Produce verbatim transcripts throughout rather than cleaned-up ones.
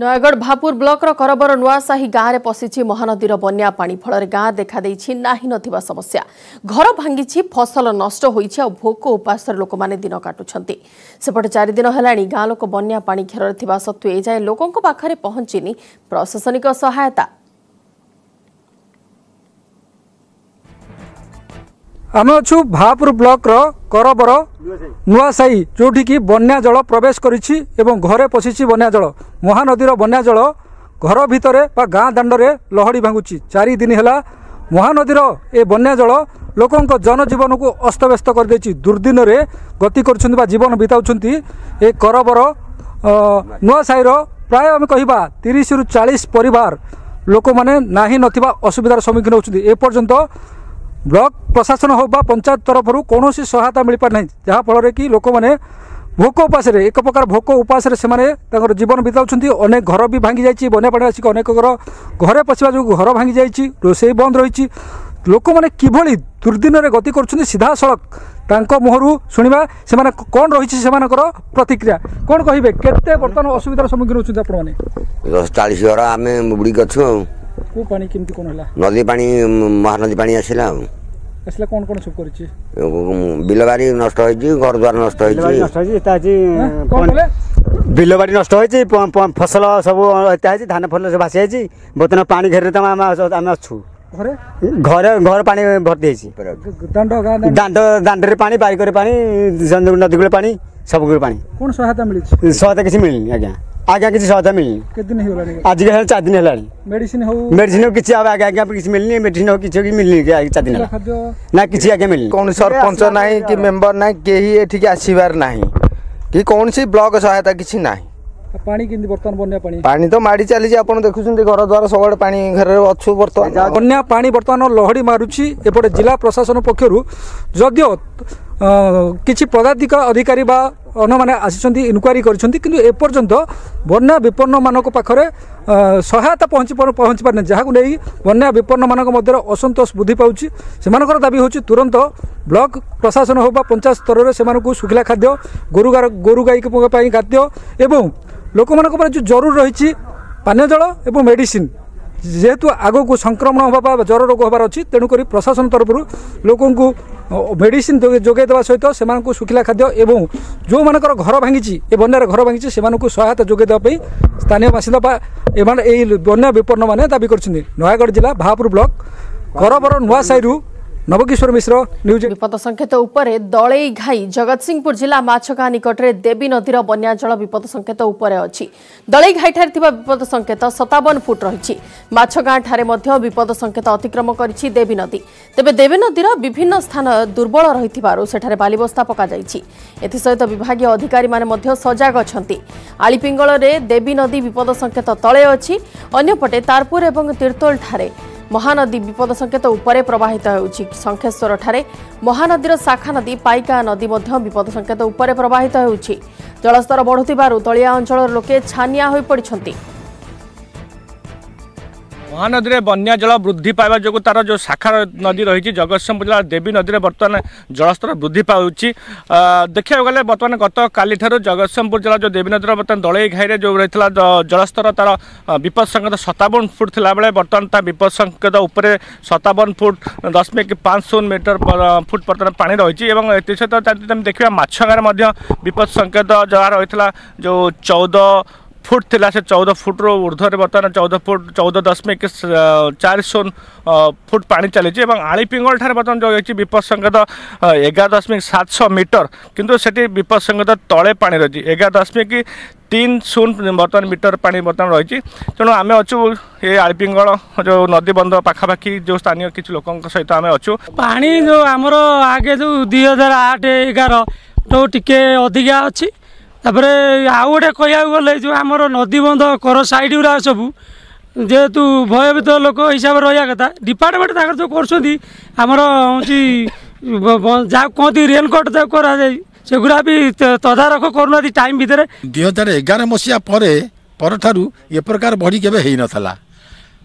ନୟାଗଡ଼ ଭାପୁର ବ୍ଲକର କରବର ନୂଆସାହି ଗାଁରେ ପଶିଛି ମହାନଦୀର ବନ୍ୟା ପାଣି। ଫଳରେ ଗାଁ ଦେଖାଦେଇଛି ନାହିଁ ନଥିବା ସମସ୍ୟା। ଘର ଭାଙ୍ଗିଛି, ଫସଲ ନଷ୍ଟ ହୋଇଛି, ଆଉ ଭୋକ ଉପାସରେ ଲୋକମାନେ ଦିନ କାଟୁଛନ୍ତି। ସେପଟେ ଚାରିଦିନ ହେଲାଣି ଗାଁ ଲୋକ ବନ୍ୟା ପାଣି ଘେରରେ ଥିବା ସତ୍ତ୍ୱେ ଏଯାଏଁ ଲୋକଙ୍କ ପାଖରେ ପହଞ୍ଚିନି ପ୍ରଶାସନିକ ସହାୟତା। ଆମେ ଅଛୁ ଭାପୁର ବ୍ଲକର କରବର ନୂଆସାହି, ଯେଉଁଠିକି ବନ୍ୟା ଜଳ ପ୍ରବେଶ କରିଛି ଏବଂ ଘରେ ପଶିଛି ବନ୍ୟା ଜଳ। ମହାନଦୀର ବନ୍ୟା ଜଳ ଘର ଭିତରେ ବା ଗାଁ ଦାଣ୍ଡରେ ଲହଡ଼ି ଭାଙ୍ଗୁଛି। ଚାରି ଦିନ ହେଲା ମହାନଦୀର ଏ ବନ୍ୟା ଜଳ ଲୋକଙ୍କ ଜନଜୀବନକୁ ଅସ୍ତବ୍ୟସ୍ତ କରିଦେଇଛି। ଦୁର୍ଦିନରେ ଗତି କରୁଛନ୍ତି ବା ଜୀବନ ବିତାଉଛନ୍ତି ଏ କରବର ନୂଆସାହିର ପ୍ରାୟ ଆମେ କହିବା ତିରିଶରୁ ଚାଳିଶ ପରିବାର ଲୋକମାନେ ନାହିଁ ନଥିବା ଅସୁବିଧାର ସମ୍ମୁଖୀନ ହେଉଛନ୍ତି। ଏପର୍ଯ୍ୟନ୍ତ ବ୍ଲକ ପ୍ରଶାସନ ହେଉ ବା ପଞ୍ଚାୟତ ତରଫରୁ କୌଣସି ସହାୟତା ମିଳିପାରି ନାହିଁ, ଯାହାଫଳରେ କି ଲୋକମାନେ ଭୋକ ଉପାସରେ, ଏକ ପ୍ରକାର ଭୋକ ଉପାସରେ ସେମାନେ ତାଙ୍କର ଜୀବନ ବିତାଉଛନ୍ତି। ଅନେକ ଘର ବି ଭାଙ୍ଗି ଯାଇଛି। ବନ୍ୟା ପାଣି ଆସିକି ଅନେକ ଘର ଘରେ ପଶିବା ଯୋଗୁଁ ଘର ଭାଙ୍ଗି ଯାଇଛି, ରୋଷେଇ ବନ୍ଦ ରହିଛି। ଲୋକମାନେ କିଭଳି ଦୁର୍ଦିନରେ ଗତି କରୁଛନ୍ତି ସିଧାସଳଖ ତାଙ୍କ ମୁହଁରୁ ଶୁଣିବା, ସେମାନେ କ'ଣ ରହିଛି ସେମାନଙ୍କର ପ୍ରତିକ୍ରିୟା, କ'ଣ କହିବେ, କେତେ ବର୍ତ୍ତମାନ ଅସୁବିଧାର ସମ୍ମୁଖୀନ ହେଉଛନ୍ତି ଆପଣମାନେ? ଦଶ ଚାଳିଶ ଘର ଆମେ ବୁଡ଼ିକି ଅଛୁ। ଆଉ କେଉଁ ପାଣି କେମିତି କ'ଣ ହେଲା? ନଦୀ ପାଣି, ମହାନଦୀ ପାଣି ଆସିଲା। ଆଉ ଆସିଲା କ'ଣ କ'ଣ ସବୁ କରିଛି? ବିଲବାଡ଼ି ନଷ୍ଟ ହେଇଛି, ଘର ଦ୍ୱାର ନଷ୍ଟ ହେଇଛି। ବିଲବାଡ଼ି ନଷ୍ଟ ହେଇଛି, ଫସଲ ସବୁ ଏତେ ହେଇଛି, ଧାନ ଫସଲ ସବୁ ଭାସି ଯାଇଛି। ବର୍ତ୍ତମାନ ପାଣି ଘେରରେ ତ ଆମେ ଆମେ ଅଛୁ। ଘରେ ଘରେ ଘର ପାଣି ଭର୍ତ୍ତି ହେଇଛି, ଦାଣ୍ଡ ଦାଣ୍ଡ ଦାଣ୍ଡରେ ପାଣି, ବାରିକରେ ପାଣି, ନଦୀ କୂଳେ ପାଣି, ସବୁ ପାଣି। କ'ଣ ସହାୟତା ମିଳିଛି? ସହାୟତା କିଛି ମିଳିନି ଆଜ୍ଞା, ଆଜ୍ଞା କିଛି ସହାୟତା ମିଳିନି। କେତେ ଦିନ ହେଇଗଲାଣି? ଆଜିକା ହେଲାଣି ଚାରି ଦିନ ହେଲାଣି। ମେଡିସିନ ହଉ, ମେଡିସିନ ହଉ କିଛି ଆଜ୍ଞା ଆଜ୍ଞା କିଛି ମିଳିନି। ମେଡିସିନ ହଉ କିଛି ମିଳିନି ଚାରି ଦିନ ହେଲା ନା କିଛି ଆଜ୍ଞା ମିଳିନି। କୌଣସି ସରପଞ୍ଚ ନାହିଁ କି ମେମ୍ବର ନାହିଁ, କେହି ଏଠିକି ଆସିବାର ନାହିଁ କି କୌଣସି ବ୍ଲକ ସହାୟତା କିଛି ନାହିଁ। ପାଣି କେମିତି ବର୍ତ୍ତମାନ? ବନ୍ୟା ପାଣି ପାଣି ତ ମାଡ଼ି ଚାଲିଛି, ଆପଣ ଦେଖୁଛନ୍ତି ଘର ଦ୍ୱାର ସବୁଆଡ଼େ ପାଣି ଘରେ ଅଛୁ ବର୍ତ୍ତମାନ। ବନ୍ୟା ପାଣି ବର୍ତ୍ତମାନ ଲହଡ଼ି ମାରୁଛି। ଏପଟେ ଜିଲ୍ଲା ପ୍ରଶାସନ ପକ୍ଷରୁ ଯଦିଓ କିଛି ପଦାଧିକ ଅଧିକାରୀ ବା ଅନ୍ୟମାନେ ଆସିଛନ୍ତି, ଇନକ୍ୱାରି କରିଛନ୍ତି, କିନ୍ତୁ ଏପର୍ଯ୍ୟନ୍ତ ବନ୍ୟା ବିପନ୍ନମାନଙ୍କ ପାଖରେ ସହାୟତା ପହଞ୍ଚି ପହଞ୍ଚି ପାରିନି, ଯାହାକୁ ନେଇ ବନ୍ୟା ବିପନ୍ନମାନଙ୍କ ମଧ୍ୟରେ ଅସନ୍ତୋଷ ବୃଦ୍ଧି ପାଉଛି। ସେମାନଙ୍କର ଦାବି ହେଉଛି ତୁରନ୍ତ ବ୍ଲକ ପ୍ରଶାସନ ହେଉ ବା ପଞ୍ଚାୟତ ସ୍ତରରେ ସେମାନଙ୍କୁ ଶୁଖିଲା ଖାଦ୍ୟ, ଗୋରୁ ଗୋରୁ ଗାଈଙ୍କ ପାଇଁ ଖାଦ୍ୟ ଏବଂ ଲୋକମାନଙ୍କ ଉପରେ ଯେଉଁ ଜରୁରୀ ରହିଛି ପାନୀୟ ଜଳ ଏବଂ ମେଡ଼ିସିନ, ଯେହେତୁ ଆଗକୁ ସଂକ୍ରମଣ ହେବା ବା ଜ୍ୱର ରୋଗ ହେବାର ଅଛି, ତେଣୁକରି ପ୍ରଶାସନ ତରଫରୁ ଲୋକଙ୍କୁ ମେଡ଼ିସିନ ଯୋଗାଇ ଦେବା ସହିତ ସେମାନଙ୍କୁ ଶୁଖିଲା ଖାଦ୍ୟ ଏବଂ ଯେଉଁମାନଙ୍କର ଘର ଭାଙ୍ଗିଛି, ଏ ବନ୍ୟାରେ ଘର ଭାଙ୍ଗିଛି, ସେମାନଙ୍କୁ ସହାୟତା ଯୋଗାଇ ଦେବା ପାଇଁ ସ୍ଥାନୀୟ ବାସିନ୍ଦା ବା ଏମାନେ ଏଇ ବନ୍ୟା ବିପନ୍ନମାନେ ଦାବି କରିଛନ୍ତି। ନୟାଗଡ଼ ଜିଲ୍ଲା ଭାପୁର ବ୍ଲକ କରବର ନୂଆସାହିରୁ ନବକିଶୋର ମିଶ୍ର, ନ୍ୟୁଜ୍। ବିପଦ ସଂକେତ ଉପରେ ଦଳେଇ ଘାଇ। ଜଗତସିଂହପୁର ଜିଲ୍ଲା ମାଛଗାଁ ନିକଟରେ ଦେବୀ ନଦୀର ବନ୍ୟା ଜଳ ବିପଦ ସଂକେତ ଉପରେ ଅଛି। ଦଳେଇ ଘାଇଠାରେ ଥିବା ବିପଦ ସଂକେତ ସତାବନ ଫୁଟ ରହିଛି। ମାଛଗାଁଠାରେ ମଧ୍ୟ ବିପଦ ସଂକେତ ଅତିକ୍ରମ କରିଛି ଦେବୀ ନଦୀ। ତେବେ ଦେବୀ ନଦୀର ବିଭିନ୍ନ ସ୍ଥାନ ଦୁର୍ବଳ ରହିଥିବାରୁ ସେଠାରେ ବାଲିବସ୍ତା ପକାଯାଇଛି। ଏଥିସହିତ ବିଭାଗୀୟ ଅଧିକାରୀମାନେ ମଧ୍ୟ ସଜାଗ ଅଛନ୍ତି। ଆଳିପିଙ୍ଗଳରେ ଦେବୀ ନଦୀ ବିପଦ ସଂକେତ ତଳେ ଅଛି। ଅନ୍ୟପଟେ ତାରପୁର ଏବଂ ତିର୍ତ୍ତୋଲଠାରେ ମହାନଦୀ ବିପଦ ସଂକେତ ଉପରେ ପ୍ରବାହିତ ହେଉଛି। ଶଙ୍ଖେଶ୍ୱରଠାରେ ମହାନଦୀର ଶାଖା ନଦୀ ପାଇକା ନଦୀ ମଧ୍ୟ ବିପଦ ସଂକେତ ଉପରେ ପ୍ରବାହିତ ହେଉଛି। ଜଳସ୍ତର ବଢ଼ୁଥିବାରୁ ତଳିଆ ଅଞ୍ଚଳର ଲୋକେ ଛାନିଆ ହୋଇପଡ଼ିଛନ୍ତି। ମହାନଦୀରେ ବନ୍ୟା ଜଳ ବୃଦ୍ଧି ପାଇବା ଯୋଗୁଁ ତାର ଯେଉଁ ଶାଖା ନଦୀ ରହିଛି, ଜଗତସିଂହପୁର ଜିଲ୍ଲା ଦେବୀ ନଦୀରେ ବର୍ତ୍ତମାନ ଜଳସ୍ତର ବୃଦ୍ଧି ପାଉଛି। ଦେଖିବାକୁ ଗଲେ ବର୍ତ୍ତମାନ ଗତକାଲିଠାରୁ ଜଗତସିଂହପୁର ଜିଲ୍ଲା ଯେଉଁ ଦେବୀ ନଦୀର ବର୍ତ୍ତମାନ ଦଳେଇ ଘାଇରେ ଯେଉଁ ରହିଥିଲା ଜଳସ୍ତର, ତାର ବିପଦ ସଂକେତ ସତାବନ ଫୁଟ ଥିଲାବେଳେ ବର୍ତ୍ତମାନ ତା ବିପଦ ସଂକେତ ଉପରେ ସତାବନ ଫୁଟ ଦଶମିକ ପାଞ୍ଚ ଶୂନ ମିଟର ଫୁଟ ବର୍ତ୍ତମାନ ପାଣି ରହିଛି। ଏବଂ ଏଥିସହିତ ଯଦି ଆମେ ଦେଖିବା, ମାଛଗାଁରେ ମଧ୍ୟ ବିପଦ ସଂକେତ ଯାହା ରହିଥିଲା ଯେଉଁ ଚଉଦ ଫୁଟ ଥିଲା, ସେ ଚଉଦ ଫୁଟରୁ ଉର୍ଦ୍ଧ୍ୱରେ ବର୍ତ୍ତମାନ ଚଉଦ ଫୁଟ ଚଉଦ ଦଶମିକ ଚାରି ଶୂନ ଫୁଟ ପାଣି ଚାଲିଛି। ଏବଂ ଆଳିପିଙ୍ଗଳ ଠାରେ ବର୍ତ୍ତମାନ ଯେଉଁ ରହିଛି ବିପଦ ସଂକେତ ଏଗାର ଦଶମିକ ସାତଶହ ମିଟର, କିନ୍ତୁ ସେଠି ବିପଦ ସଂକେତ ତଳେ ପାଣି ରହିଛି, ଏଗାର ଦଶମିକ ତିନି ଶୂନ ବର୍ତ୍ତମାନ ମିଟର ପାଣି ବର୍ତ୍ତମାନ ରହିଛି। ତେଣୁ ଆମେ ଅଛୁ ଏ ଆଳିପିଙ୍ଗଳ ଯେଉଁ ନଦୀ ବନ୍ଧ ପାଖାପାଖି ଯେଉଁ ସ୍ଥାନୀୟ କିଛି ଲୋକଙ୍କ ସହିତ ଆମେ ଅଛୁ। ପାଣି ଯେଉଁ ଆମର ଆଗେ ଯେଉଁ ଦୁଇ ହଜାର ଆଠ ଏଗାର ଯେଉଁ ଟିକେ ଅଧିକା ଅଛି। ତାପରେ ଆଉ ଗୋଟେ କହିବାକୁ ଗଲେ ଯେଉଁ ଆମର ନଦୀ ବନ୍ଧ କର ସାଇଡ଼୍ ଗୁଡ଼ା ସବୁ ଯେହେତୁ ଭୟଭୀତ ଲୋକ ହିସାବରେ ରହିବା କଥା, ଡିପାର୍ଟମେଣ୍ଟ ତାଙ୍କର ଯେଉଁ କରୁଛନ୍ତି, ଆମର ହେଉଛି ଯାହା କୁହନ୍ତି ରେନକୋଟ୍ ଯାହା କରାଯାଇ, ସେଗୁଡ଼ା ବି ତଦାରଖ କରୁନାହାନ୍ତି ଟାଇମ୍ ଭିତରେ। ଦୁଇ ହଜାର ଏଗାର ମସିହା ପରେ ପରଠାରୁ ଏ ପ୍ରକାର ବଢ଼ି କେବେ ହେଇନଥିଲା।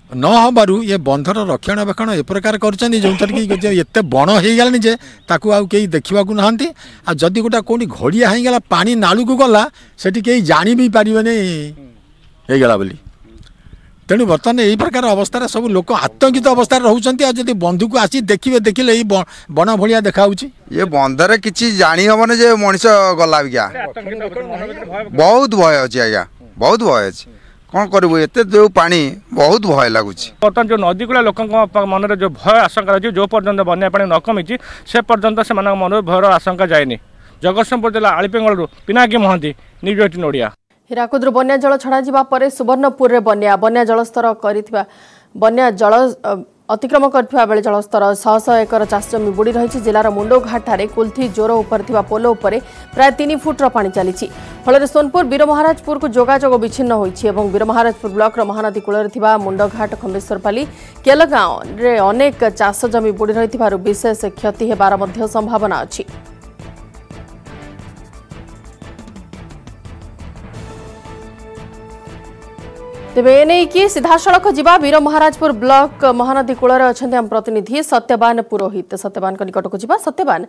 ନ ହେବାରୁ ଏ ବନ୍ଧର ରକ୍ଷଣାବେକ୍ଷଣ ଏ ପ୍ରକାର କରୁଛନ୍ତି, ଯେଉଁଥିରେ କି ଏତେ ବଣ ହେଇଗଲାଣି ଯେ ତାକୁ ଆଉ କେହି ଦେଖିବାକୁ ନାହାନ୍ତି। ଆଉ ଯଦି ଗୋଟେ କେଉଁଠି ଘଡ଼ିଆ ହେଇଗଲା, ପାଣି ନାଳୁକୁ ଗଲା, ସେଠି କେହି ଜାଣି ବି ପାରିବେନି। ହେଇଗଲା ବୋଲି। ତେଣୁ ବର୍ତ୍ତମାନ ଏଇ ପ୍ରକାର ଅବସ୍ଥାରେ ସବୁ ଲୋକ ଆତଙ୍କିତ ଅବସ୍ଥାରେ ରହୁଛନ୍ତି। ଆଉ ଯଦି ବନ୍ଧୁକୁ ଆସି ଦେଖିବେ, ଦେଖିଲେ ଏଇ ବଣ ଭଳିଆ ଦେଖାହେଉଛି। ଇଏ ବନ୍ଧରେ କିଛି ଜାଣି ହେବନି ଯେ ମଣିଷ ଗଲା ଆଜ୍ଞା। ବହୁତ ଭୟ ଅଛି ଆଜ୍ଞା, ବହୁତ ଭୟ ଅଛି। କ'ଣ କରିବୁ, ଏତେ ଯେଉଁ ପାଣି, ବହୁତ ଭୟ ଲାଗୁଛି। ବର୍ତ୍ତମାନ ଯେଉଁ ନଦୀ କୂଳିଆ ଲୋକଙ୍କ ମନରେ ଯେଉଁ ଭୟ ଆଶଙ୍କା ରହିଛି, ଯେଉଁ ପର୍ଯ୍ୟନ୍ତ ବନ୍ୟା ପାଣି ନ କମିଛି ସେ ପର୍ଯ୍ୟନ୍ତ ସେମାନଙ୍କ ମନରୁ ଭୟର ଆଶଙ୍କା ଯାଇନି। ଜଗତସିଂହପୁର ଜିଲ୍ଲା ଆଳିପେଙ୍ଗଳରୁ ପିନାକୀ ମହାନ୍ତି, ନ୍ୟୁଜ୍ ଏଇଟିନ୍ ଓଡ଼ିଆ। ହୀରାକୁଦରୁ ବନ୍ୟା ଜଳ ଛଡ଼ାଯିବା ପରେ ସୁବର୍ଣ୍ଣପୁରରେ ବନ୍ୟା ବନ୍ୟା ଜଳସ୍ତର କରିଥିବା ବନ୍ୟା ଜଳ ଅତିକ୍ରମ କରିଥିବା ବେଳେ ଜଳସ୍ତର ଶହ ଶହ ଏକର ଚାଷ ଜମି ବୁଡ଼ି ରହିଛି। ଜିଲ୍ଲାର ମୁଣ୍ଡଘାଟଠାରେ କୁଲଥି ଜୋର ଉପରେ ଥିବା ପୋଲ ଉପରେ ପ୍ରାୟ ତିନି ଫୁଟର ପାଣି ଚାଲିଛି। ଫଳରେ ସୋନପୁର ବୀରମହାରାଜପୁରକୁ ଯୋଗାଯୋଗ ବିଚ୍ଛିନ୍ନ ହୋଇଛି ଏବଂ ବୀରମହାରାଜପୁର ବ୍ଲକର ମହାନଦୀ କୂଳରେ ଥିବା ମୁଣ୍ଡଘାଟ, ଖମ୍ବେଶ୍ୱରପାଲି, କେଲଗାଁରେ ଅନେକ ଚାଷ ଜମି ବୁଡ଼ି ରହିଥିବାରୁ ବିଶେଷ କ୍ଷତି ହେବାର ମଧ୍ୟ ସମ୍ଭାବନା ଅଛି। ତେବେ ଏନେଇକି ସିଧାସଳଖ ଯିବା, ବୀରମହାରାଜପୁର ବ୍ଲକ ମହାନଦୀ କୂଳରେ ଅଛନ୍ତି ଆମ ପ୍ରତିନିଧି ସତ୍ୟବାନ ପୁରୋହିତ। ସତ୍ୟବାନଙ୍କ ନିକଟକୁ ଯିବା। ସତ୍ୟବାନ,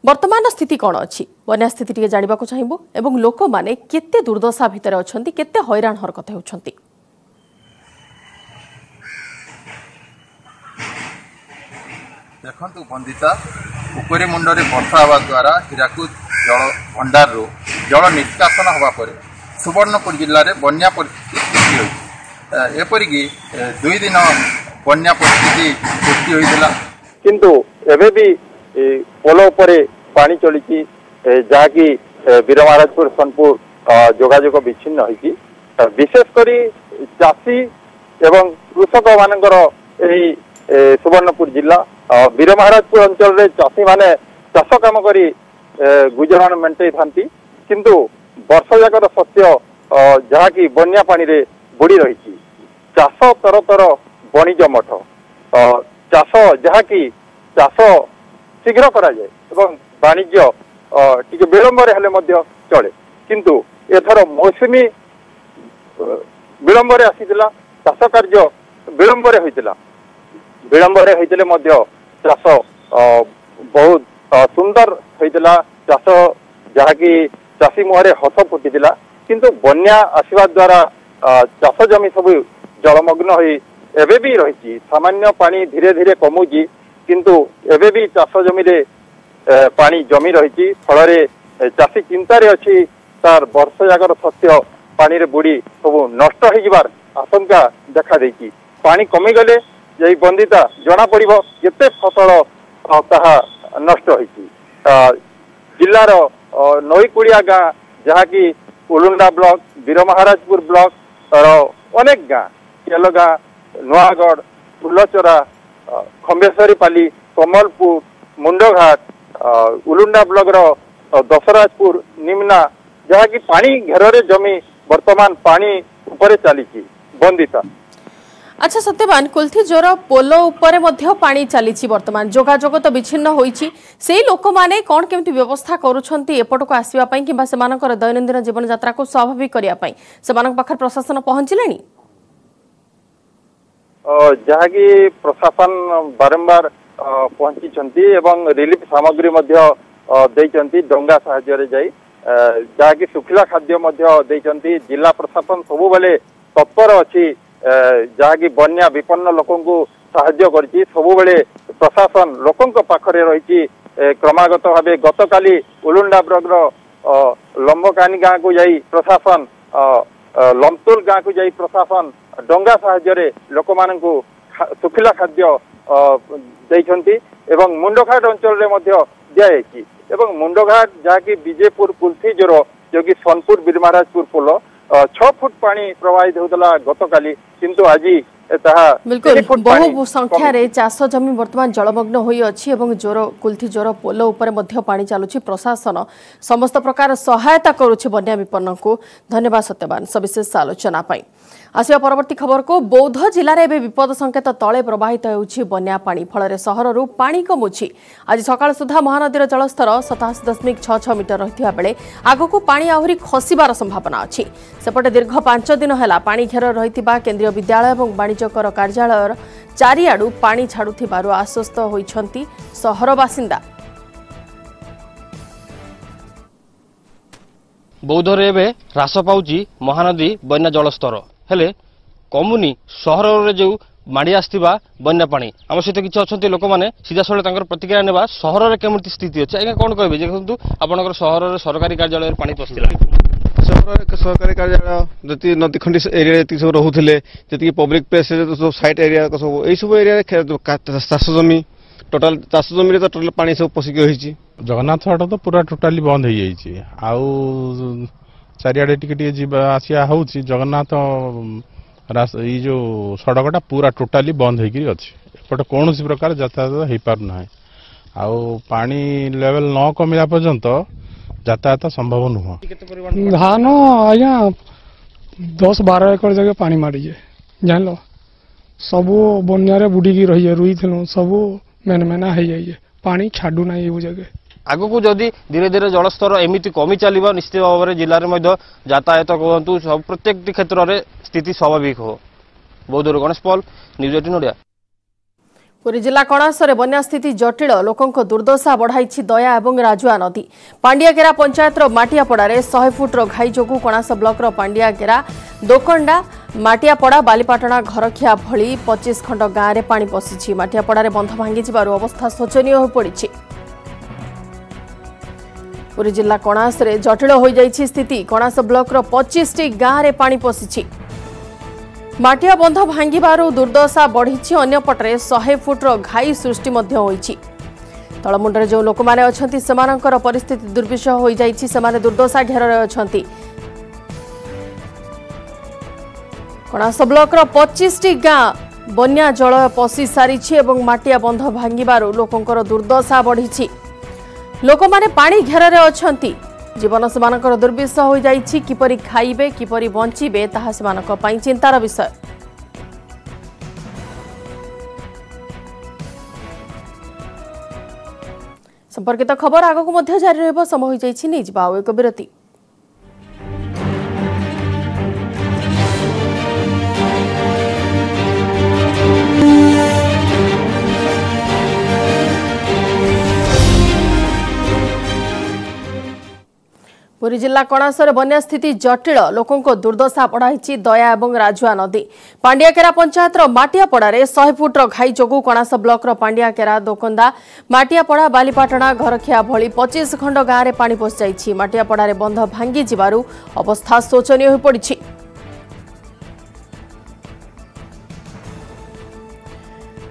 ବର୍ତ୍ତମାନର ସ୍ଥିତି କ'ଣ ଅଛି, ବନ୍ୟା ସ୍ଥିତି ଟିକେ ଜାଣିବାକୁ ଚାହିଁବୁ ଏବଂ ଲୋକମାନେ କେତେ ଦୁର୍ଦ୍ଦଶା ଭିତରେ ଅଛନ୍ତି, କେତେ ହଇରାଣ ହରକତ ହେଉଛନ୍ତି? ଦେଖନ୍ତୁ ବନ୍ଦିତା, ପୋଖରୀ ମୁଣ୍ଡରେ ବର୍ଷା ହେବା ଦ୍ୱାରା ହୀରାକୁଦ ଜଳ ଭଣ୍ଡାରରୁ ଜଳ ନିଷ୍କାସନ ହେବା ପରେ ସୁବର୍ଣ୍ଣପୁର ଜିଲ୍ଲାରେ ବନ୍ୟା ପରିସ୍ଥିତି ସୃଷ୍ଟି ହୋଇଛି। ଏପରିକି ଦୁଇ ଦିନ ବନ୍ୟା ପରିସ୍ଥିତି ସୃଷ୍ଟି ହୋଇଥିଲା, କିନ୍ତୁ ଏବେ ବି ପୋଲ ଉପରେ ପାଣି ଚଳିଛି, ଯାହାକି ବୀରମହାରାଜପୁର ସୋନପୁର ଯୋଗାଯୋଗ ବିଚ୍ଛିନ୍ନ ହୋଇଛି। ବିଶେଷ କରି ଚାଷୀ ଏବଂ କୃଷକମାନଙ୍କର ଏହି ସୁବର୍ଣ୍ଣପୁର ଜିଲ୍ଲା ବୀରମହାରାଜପୁର ଅଞ୍ଚଳରେ ଚାଷୀମାନେ ଚାଷ କାମ କରି ଗୁଜରାଣ ମେଣ୍ଟେଇଥାନ୍ତି, କିନ୍ତୁ ବର୍ଷ ଯାକର ଶସ୍ୟ ଯାହାକି ବନ୍ୟା ପାଣିରେ ବୁଡ଼ି ରହିଛି। ଚାଷ ତରତର ବଣିଜ ମଠ, ଚାଷ ଯାହାକି ଚାଷ ଶୀଘ୍ର କରାଯାଏ ଏବଂ ବାଣିଜ୍ୟ ଟିକେ ବିଳମ୍ବରେ ହେଲେ ମଧ୍ୟ ଚଳେ, କିନ୍ତୁ ଏଥର ମୌସୁମୀ ବିଳମ୍ବରେ ଆସିଥିଲା, ଚାଷ କାର୍ଯ୍ୟ ବିଳମ୍ବରେ ହୋଇଥିଲା। ବିଳମ୍ବରେ ହୋଇଥିଲେ ମଧ୍ୟ ଚାଷ ବହୁତ ସୁନ୍ଦର ହୋଇଥିଲା, ଚାଷ ଯାହାକି ଚାଷୀ ମୁହଁରେ ହସ ଫୁଟିଥିଲା। କିନ୍ତୁ ବନ୍ୟା ଆସିବା ଦ୍ୱାରା ଚାଷ ଜମି ସବୁ ଜଳମଗ୍ନ ହୋଇ ଏବେ ବି ରହିଛି। ସାମାନ୍ୟ ପାଣି ଧୀରେ ଧୀରେ କମୁଛି, କିନ୍ତୁ ଏବେ ବି ଚାଷ ଜମିରେ ପାଣି ଜମି ରହିଛି। ଫଳରେ ଚାଷୀ ଚିନ୍ତାରେ ଅଛି, ତାର ବର୍ଷ ଯାକର ଶସ୍ୟ ପାଣିରେ ବୁଡ଼ି ସବୁ ନଷ୍ଟ ହେଇଯିବାର ଆଶଙ୍କା ଦେଖାଦେଇଛି। ପାଣି କମିଗଲେ ଏଇ ବନ୍ଦିତା ଜଣାପଡ଼ିବ କେତେ ଫସଲ ତାହା ନଷ୍ଟ ହୋଇଛି। ଜିଲ୍ଲାର ନଈକୂଳିଆ ଗାଁ, ଯାହାକି ଉଲୁଣ୍ଡା ବ୍ଲକ, ବୀରମହାରାଜପୁର ବ୍ଲକର ଅନେକ ଗାଁ, କେଲଗାଁ, ନୂଆଗଡ଼, ଫୁଲଚରା, ଖମ୍ବେଶ୍ୱରୀପାଲି, କମଲପୁର, ମୁଣ୍ଡଘାଟ, ଉଲୁଣ୍ଡା ବ୍ଲକର ଦଶରାଜପୁର, ନିମ୍ନା, ଯାହାକି ପାଣି ଘେରରେ ଜମି ବର୍ତ୍ତମାନ ପାଣି ଉପରେ ଚାଲିଛି। ବନ୍ଦିତା। ଆଚ୍ଛା ସତ୍ୟବାନ, କୁଲଥି ଜୋର ପୋଲ ଉପରେ ମଧ୍ୟ ପାଣି ଚାଲିଛି, ବର୍ତ୍ତମାନ ଯୋଗାଯୋଗ ତ ବିଚ୍ଛିନ୍ନ ହୋଇଛି। ସେଇ ଲୋକମାନେ କ'ଣ କେମିତି ବ୍ୟବସ୍ଥା କରୁଛନ୍ତି ଏପଟକୁ ଆସିବା ପାଇଁ କିମ୍ବା ସେମାନଙ୍କର ଦୈନନ୍ଦିନ ଜୀବନଯାତ୍ରାକୁ ସ୍ୱାଭାବିକ କରିବା ପାଇଁ? ସେମାନଙ୍କ ପାଖରେ ପ୍ରଶାସନ ପହଞ୍ଚିଲେଣି? ଯାହାକି ପ୍ରଶାସନ ବାରମ୍ବାର ପହଞ୍ଚିଛନ୍ତି ଏବଂ ରିଲିଫ ସାମଗ୍ରୀ ମଧ୍ୟ ଦେଇଛନ୍ତି, ଡଙ୍ଗା ସାହାଯ୍ୟରେ ଯାଇ ଯାହାକି ଶୁଖିଲା ଖାଦ୍ୟ ମଧ୍ୟ ଦେଇଛନ୍ତି। ଜିଲ୍ଲା ପ୍ରଶାସନ ସବୁବେଳେ ତତ୍ପର ଅଛି, ଯାହାକି ବନ୍ୟା ବିପନ୍ନ ଲୋକଙ୍କୁ ସାହାଯ୍ୟ କରିଛି। ସବୁବେଳେ ପ୍ରଶାସନ ଲୋକଙ୍କ ପାଖରେ ରହିଛି କ୍ରମାଗତ ଭାବେ। ଗତକାଲି ଉଲୁଣ୍ଡା ବ୍ଲକର ଲମ୍ବକାନି ଗାଁକୁ ଯାଇ ପ୍ରଶାସନ, ଲମ୍ତୁଲ ଗାଁକୁ ଯାଇ ପ୍ରଶାସନ ଡଙ୍ଗା ସାହାଯ୍ୟରେ ଲୋକମାନଙ୍କୁ ଶୁଖିଲା ଖାଦ୍ୟ ଦେଇଛନ୍ତି ଏବଂ ମୁଣ୍ଡଘାଟ ଅଞ୍ଚଳରେ ମଧ୍ୟ ଦିଆଯାଇଛି। ଏବଂ ମୁଣ୍ଡଘାଟ ଯାହାକି ବିଜେପୁର କୁଲଥି ଜୋର, ଯେଉଁକି ସୋନପୁର ବୀରମହାରାଜପୁର ପୋଲ, ଛଅ ଫୁଟ ପାଣି ପ୍ରବାହିତ ହେଉଥିଲା ଗତକାଲି, କିନ୍ତୁ ଆଜି ତାହା ବିଲକୁଲ ବହୁ ସଂଖ୍ୟାରେ ଚାଷ ଜମି ବର୍ତ୍ତମାନ ଜଳମଗ୍ନ ହୋଇଅଛି ଏବଂ ଜୋର କୁଲଥି ଜୋର ପୋଲ ଉପରେ ମଧ୍ୟ ପାଣି ଚାଲୁଛି। ପ୍ରଶାସନ ସମସ୍ତ ପ୍ରକାର ସହାୟତା କରୁଛି ବନ୍ୟା ବିପନ୍ନଙ୍କୁ। ଧନ୍ୟବାଦ ସତ୍ୟବାନ ସବିଶେଷ ଆଲୋଚନା ପାଇଁ। ଆସିବା ପରବର୍ତ୍ତୀ ଖବରକୁ। ବୌଦ୍ଧ ଜିଲ୍ଲାରେ ଏବେ ବିପଦ ସଂକେତ ତଳେ ପ୍ରବାହିତ ହେଉଛି ବନ୍ୟା ପାଣି। ଫଳରେ ସହରରୁ ପାଣି କମୁଛି। ଆଜି ସକାଳ ସୁଦ୍ଧା ମହାନଦୀର ଜଳସ୍ତର ସତାଅଶୀ ଦଶମିକ ଛଅ ଛଅ ମିଟର ରହିଥିବା ବେଳେ ଆଗକୁ ପାଣି ଆହୁରି ଖସିବାର ସମ୍ଭାବନା ଅଛି। ସେପଟେ ଦୀର୍ଘ ପାଞ୍ଚ ଦିନ ହେଲା ପାଣି ଘେର ରହିଥିବା କେନ୍ଦ୍ରୀୟ ବିଦ୍ୟାଳୟ ଏବଂ ବାଣିଜ୍ୟ କର କାର୍ଯ୍ୟାଳୟର ଚାରିଆଡୁ ପାଣି ଛାଡୁଥିବାରୁ ଆଶ୍ୱସ୍ତ ହୋଇଛନ୍ତି ସହର ବାସିନ୍ଦା। ବୌଦ୍ଧରେ ଏବେ ହ୍ରାସ ପାଉଛି ମହାନଦୀ ବନ୍ୟା ଜଳସ୍ତର। ହେଲେ କମୁନି ସହରରେ ଯେଉଁ ମାଡ଼ି ଆସିଥିବା ବନ୍ୟା ପାଣି। ଆମ ସହିତ କିଛି ଅଛନ୍ତି ଲୋକମାନେ, ସିଧାସଳଖ ତାଙ୍କର ପ୍ରତିକ୍ରିୟା ନେବା, ସହରରେ କେମିତି ସ୍ଥିତି ଅଛି। ଆଜ୍ଞା, କ'ଣ କହିବେ? ଦେଖନ୍ତୁ, ଆପଣଙ୍କର ସହରରେ ସରକାରୀ କାର୍ଯ୍ୟାଳୟରେ ପାଣି ପଶିଥିଲା। ସହରରେ ସରକାରୀ କାର୍ଯ୍ୟାଳୟ ଯେତିକି ନଦୀ ଖଣ୍ଡି ଏରିଆରେ ଯେତିକି ସବୁ ରହୁଥିଲେ, ଯେତିକି ପବ୍ଲିକ ପ୍ଲେସ୍ ସବୁ, ସାଇଟ୍ ଏରିଆ ସବୁ, ଏଇସବୁ ଏରିଆରେ ଚାଷ ଜମି, ଟୋଟାଲ ଚାଷ ଜମିରେ ତ ଟୋଟାଲ ପାଣି ସବୁ ପଶିକି ରହିଛି। ଜଗନ୍ନାଥ ହାଟ ତ ପୁରା ଟୋଟାଲି ବନ୍ଦ ହେଇଯାଇଛି, ଆଉ ଚାରିଆଡ଼େ ଟିକେ ଟିକେ ଯିବା ଆସିବା ହେଉଛି। ଜଗନ୍ନାଥ ଏଇ ଯେଉଁ ସଡ଼କଟା ପୁରା ଟୋଟାଲି ବନ୍ଦ ହେଇକିରି ଅଛି, ଏପଟେ କୌଣସି ପ୍ରକାର ଯାତାୟାତ ହେଇପାରୁନାହିଁ। ଆଉ ପାଣି ଲେଭେଲ ନ କମିଲା ପର୍ଯ୍ୟନ୍ତ ଯାତାୟାତ ସମ୍ଭବ ନୁହଁ। ଧାନ ଆଜ୍ଞା ଦଶ ବାର ଏକର ଜାଗା ପାଣି ମାଡ଼ିଛେ, ଜାଣିଲ, ସବୁ ବନ୍ୟାରେ ବୁଡ଼ିକି ରହିଯାଏ। ରୁଇଥିଲୁ, ସବୁ ମେନ ମେନା ହେଇଯାଇଛେ, ପାଣି ଛାଡୁ ନାହିଁ ଏଇ ଜାଗା। ଆଗକୁ ଯଦି ଧୀରେ ଧୀରେ ଜଳସ୍ତର ଏମିତି କମି ଚାଲିବ, ନିଶ୍ଚିତ ଭାବରେ ଜିଲ୍ଲାରେ ମଧ୍ୟ ଯାତାୟାତ କୁହନ୍ତୁ, ସବୁ ପ୍ରତ୍ୟେକଟି କ୍ଷେତ୍ରରେ ସ୍ଥିତି ସ୍ୱାଭାବିକ ହେବ। ବୌଦ୍ଧରୁ ଗଣେଶ ପଲ୍, ନ୍ୟୁଜ୍ ଏଇଟିନ୍ ଓଡ଼ିଆ। ପୁରୀ ଜିଲ୍ଲା କଣାସରେ ବନ୍ୟା ସ୍ଥିତି ଜଟିଳ। ଲୋକଙ୍କ ଦୁର୍ଦ୍ଦଶା ବଢ଼ାଇଛି ଦୟା ଏବଂ ରାଜୁଆ ନଦୀ। ପାଣ୍ଡିଆଗେରା ପଞ୍ଚାୟତର ମାଟିଆପଡ଼ାରେ ଶହେ ଫୁଟର ଘାଇ ଯୋଗୁଁ କଣାସ ବ୍ଲକର ପାଣ୍ଡିଆଗେରା, ଦୋକଣ୍ଡା, ମାଟିଆପଡ଼ା, ବାଲିପାଟଣା, ଘରଖିଆ ଭଳି ପଚିଶ ଖଣ୍ଡ ଗାଁରେ ପାଣି ପଶିଛି। ମାଟିଆପଡ଼ାରେ ବନ୍ଧ ଭାଙ୍ଗିଯିବାରୁ ଅବସ୍ଥା ଶୋଚନୀୟ ହୋଇପଡ଼ିଛି। ପୁରୀ ଜିଲ୍ଲା କଣାସରେ ଜଟିଳ ହୋଇଯାଇଛି ସ୍ଥିତି। କଣାସ ବ୍ଲକର ପଚିଶଟି ଗାଁରେ ପାଣି ପଶିଛି। ମାଟିଆ ବନ୍ଧ ଭାଙ୍ଗିବାରୁ ଦୁର୍ଦ୍ଦଶା ବଢ଼ିଛି। ଅନ୍ୟପଟରେ ଶହେ ଫୁଟର ଘାଇ ସୃଷ୍ଟି ମଧ୍ୟ ହୋଇଛି। ତଳମୁଣ୍ଡରେ ଯେଉଁ ଲୋକମାନେ ଅଛନ୍ତି, ସେମାନଙ୍କର ପରିସ୍ଥିତି ଦୁର୍ବିଷହ ହୋଇଯାଇଛି। ସେମାନେ ଦୁର୍ଦ୍ଦଶା ଘେରରେ ଅଛନ୍ତି। କଣାସ ବ୍ଲକର ପଚିଶଟି ଗାଁ ବନ୍ୟା ଜଳ ପଶି ସାରିଛି ଏବଂ ମାଟିଆ ବନ୍ଧ ଭାଙ୍ଗିବାରୁ ଲୋକଙ୍କର ଦୁର୍ଦ୍ଦଶା ବଢ଼ିଛି। ଲୋକମାନେ ପାଣି ଘେରରେ ଅଛନ୍ତି। ଜୀବନ ସେମାନଙ୍କର ଦୁର୍ବିଷହ ହୋଇଯାଇଛି। କିପରି ଖାଇବେ, କିପରି ବଞ୍ଚିବେ, ତାହା ସେମାନଙ୍କ ପାଇଁ ଚିନ୍ତାର ବିଷୟ। ସମ୍ପର୍କିତ ଖବର ଆଗକୁ ମଧ୍ୟ ଜାରି ରହିବ। ସମୟ ହୋଇଯାଇଛି, ନେଇଯିବା ଆଉ ଏକ ବିରତି। ପୁରୀ ଜିଲ୍ଲା କଣାସରେ ବନ୍ୟା ସ୍ଥିତି ଜଟିଳ। ଲୋକଙ୍କ ଦୁର୍ଦ୍ଦଶା ବଢ଼ାଇଛି ଦୟା ଏବଂ ରାଜୁଆ ନଦୀ। ପାଣ୍ଡିଆକେରା ପଞ୍ଚାୟତର ମାଟିଆପଡ଼ାରେ ଶହେ ଫୁଟର ଘାଇ ଯୋଗୁଁ କଣାସ ବ୍ଲକର ପାଣ୍ଡିଆକେରା, ଦୋକନ୍ଦା, ମାଟିଆପଡ଼ା, ବାଲିପାଟଣା, ଘରଖିଆ ଭଳି ପଚିଶ ଖଣ୍ଡ ଗାଁରେ ପାଣି ପଶିଯାଇଛି। ମାଟିଆପଡ଼ାରେ ବନ୍ଧ ଭାଙ୍ଗିଯିବାରୁ ଅବସ୍ଥା ଶୋଚନୀୟ ହୋଇପଡ଼ିଛି।